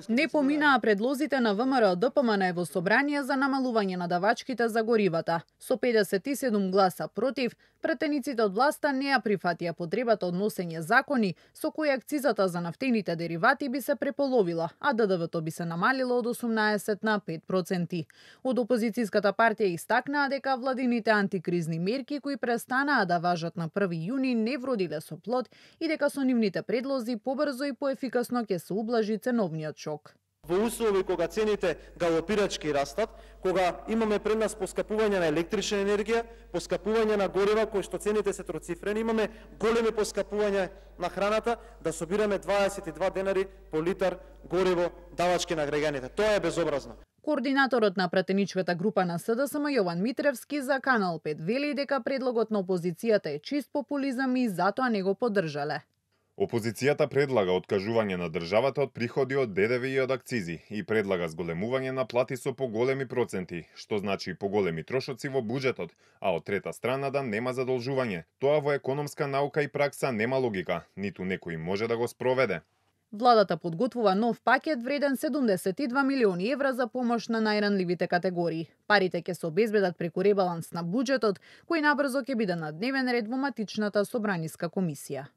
Не поминаа предлозите на ВМРО-ДПМН во собрание за намалување на давачките за горивата. Со 57 гласа против, претениците од власта не ја прифатија потребата од носење закони со кои акцизата за нафтените деривати би се преполовила, а ДДВ-то би се намалило од 18 на 5%. Од опозицијската партија истакнаа дека владините антикризни мерки кои престанаа да важат на 1 јуни не вродиле со плод и дека со нивните предлози побрзо и поефикасно ќе се ублажи ценовниот шок. Во услови кога цените галопирачки растат, кога имаме пред нас поскапување на електрична енергија, поскапување на горива кои што цените се троцифрени, имаме големи поскапувања на храната, да собираме 22 денари по литар гориво давачки на граѓаните. Тоа е безобразно. Координаторот на претеничката група на СДСМ Јован Митревски за Канал 5 вели дека предлогот на опозицијата е чист популизам и затоа не го поддржале. Опозицијата предлага откажување на државата од приходи од ДДВ и од акцизи и предлага зголемување на плати со поголеми проценти, што значи поголеми трошоци во буџетот, а од трета страна да нема задолжување. Тоа во економска наука и пракса нема логика, ниту некој може да го спроведе. Владата подготвува нов пакет вреден 72 милиони евра за помош на најранливите категории. Парите ќе се обезбедат преку ребаланс на буџетот, кој набрзо ќе биде на дневен ред во матичната собраниска комисија.